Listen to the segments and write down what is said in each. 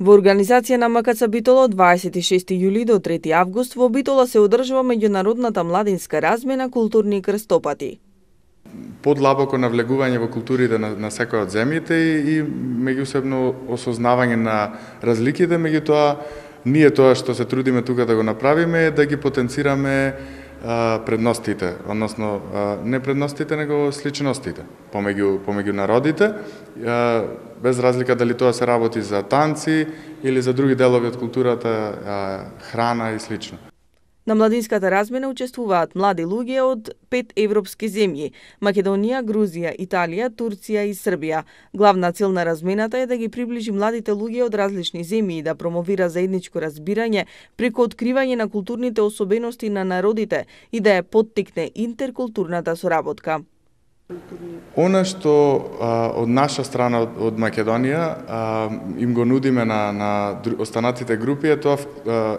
Во организација на МКЦ Битола од 26 јули до 3 август во Битола се одржува меѓународната младинска размена културни крстопати. Подлабоко навлегување во културите на секоја од земјите и меѓусебно осознавање на разликите, меѓутоа ние тоа што се трудиме тука да го направиме е да ги потенцираме предностите, односно не предностите, него сличностите помеѓу народите, без разлика дали тоа се работи за танци или за други делови од културата, храна и слично. На младинската размена учествуваат млади луѓе од 5 европски земји – Македонија, Грузија, Италија, Турција и Србија. Главна цел на размената е да ги приближи младите луѓе од различни земји и да промовира заедничко разбирање преку откривање на културните особености на народите и да ја поттикне интеркултурната соработка. Она што од наша страна, од Македонија, им го нудиме на останатите групи е тоа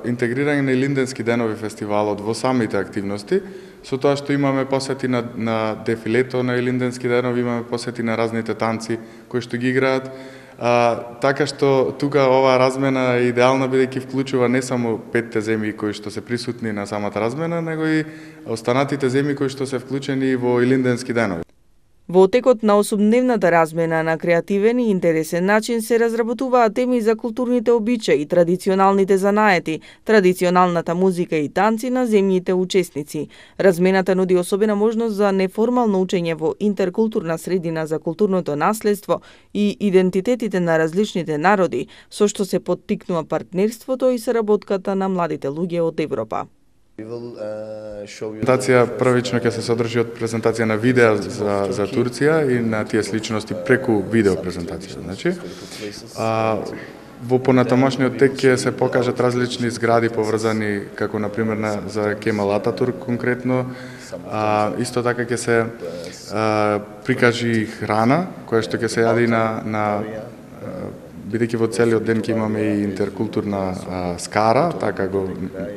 интегрирање на Илинденски денови фестивалот во самите активности, со тоа што имаме посети на дефилето на Илинденски денови, имаме посети на разните танци кои што ги играат, така што тука оваа размена е идеална бидејќи вклучува не само 5 земји кои што се присутни на самата размена, него и останатите земји кои што се вклучени во Илинденски денови. Во текот на 8-дневната размена на креативен и интересен начин се разработуваат теми за културните обичаи, традиционалните занаети, традиционалната музика и танци на земјите учесници. Размената нуди особена можност за неформално учење во интеркултурна средина за културното наследство и идентитетите на различните народи, со што се поттикнува партнерството и соработката на младите луѓе од Европа. Презентација првично ќе се содржи од презентација на видеа за Турција и на тие сличности преку видео презентација. Значи, во понатамошниот тек ќе се покажат различни згради поврзани, како например за Кемал Ататурк конкретно. Исто така ќе се прикажи храна која што ќе се јади бидејќи во целиот ден ќе имаме и интеркултурна скара, така го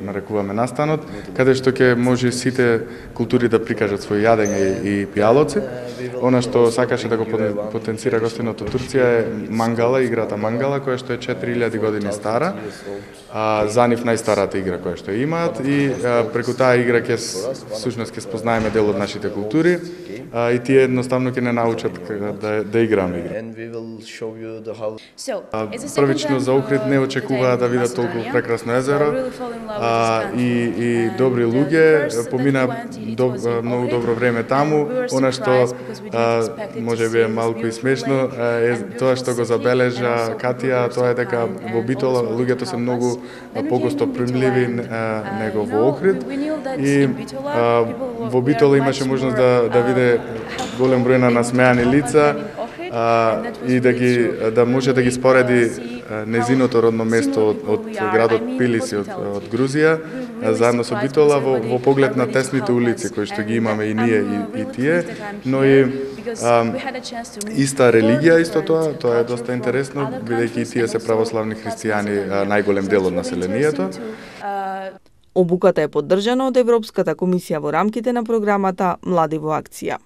нарекуваме настанот, каде што ќе може сите култури да прикажат свој јадење и пијалоци. Она што сакаше да го потенцира гостинот од Турција е мангала, играта мангала, која што е 4000 години стара, за нив најстарата игра која што имаат и преку таа игра всушност ќе спознаеме дел од нашите култури и тие едноставно ќе не научат да играме игра. Првично за Охрид не очекуваа да видат толку прекрасно езеро и добри луѓе, помина многу добро време таму. Она што може би е малку и смешно е тоа што го забележа Катија, тоа е дека во Битола луѓето се многу погосто примливи него во Охрид и во Битола имаше можност да виде голем број на насмеани лица и да може да ги спореди незиното родно место од градот Тбилиси од Грузија заедно со Битола во поглед на тесните улици кои што ги имаме и ние и тие, но и иста религија исто тоа е доста интересно бидејќи и тие се православни христијани, најголем дел од населението. Обуката е поддржана од Европската комисија во рамките на програмата Млади во акција.